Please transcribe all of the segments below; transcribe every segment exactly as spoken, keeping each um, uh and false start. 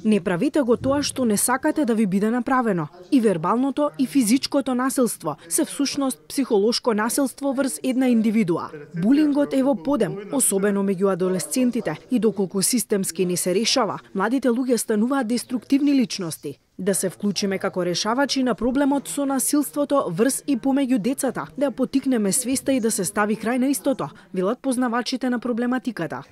Не правете го тоа што не сакате да ви биде направено. И вербалното и физичкото насилство се всушност психолошко насилство врз една индивидуа. Булингот е во подем, особено меѓу адолесцентите, и доколку системски не се решава, младите луѓе стануваат деструктивни личности. Да се вклучиме како решавачи на проблемот со насилството врз и помеѓу децата, да ја потикнеме свеста и да се стави крај на истото, велат познавачите на проблематиката.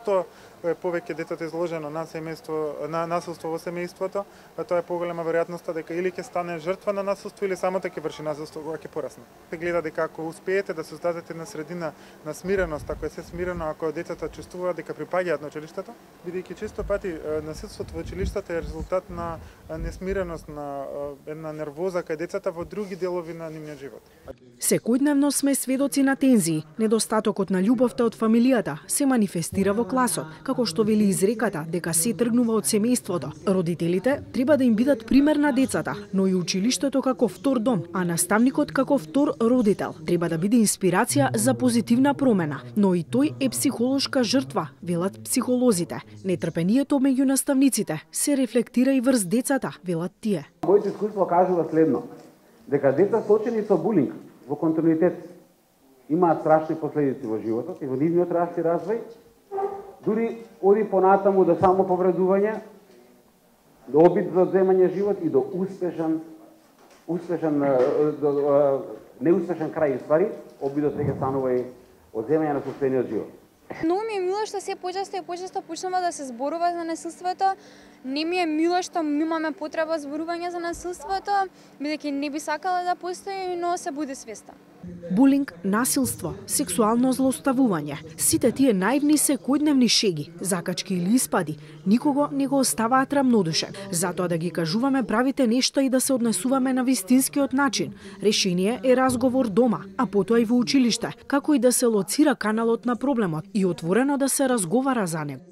Тоа е повеќе детето изложено на семејство, на насилство во семејството, а тоа е поголема веројатноста дека или ќе стане жртва на насилство или само ќе врши насилство кога ќе порасне. Се гледа дека ако успеете да создадете една средина на смиреност, ако е се смирено, ако децата чувствуваат дека припаѓаат на училиштето, бидејќи често пати насилството во училиштето е резултат на несмиреност, на една нервоза кај децата во други делови на нивниот живот. Секојдневно сме сведоци на тензии. Недостатокот на љубовта од фамилијата се манифестира во класот, како што вели изреката дека се тргнува од семејството. Родителите треба да им бидат пример на децата, но и училиштето како втор дом, а наставникот како втор родител треба да биде инспирација за позитивна промена, но и тој е психолошка жртва, велат психолозите. Нетрпението меѓу наставниците се рефлектира и врз децата, велат тие. Моето искуство кажува следно, дека деца сочени со булинг во континуитет имаат страшни последици во животот и во нивниот раст и развој, дури оди понатаму до само повредување, до обид за одземање живот и до успешен, успешен, до, неуспешен крај, ствари, обидот веќе станува и одземање на собствениот живот. Многу ми е мило што се почесто и почесто почнува да се зборува за насилството. Не ми е мило што имаме потреба зборување за насилството, бидејќи не би сакала да постои, но се буди свеста. Булинг, насилство, сексуално злоставување, сите тие наивни секојдневни шеги, закачки или испади, никого не го оставаат рамнодушен. Затоа да ги кажуваме правите нешта и да се однесуваме на вистинскиот начин. Решение е разговор дома, а потоа и во училиште, како и да се лоцира каналот на проблемот и отворено да се разговара за него.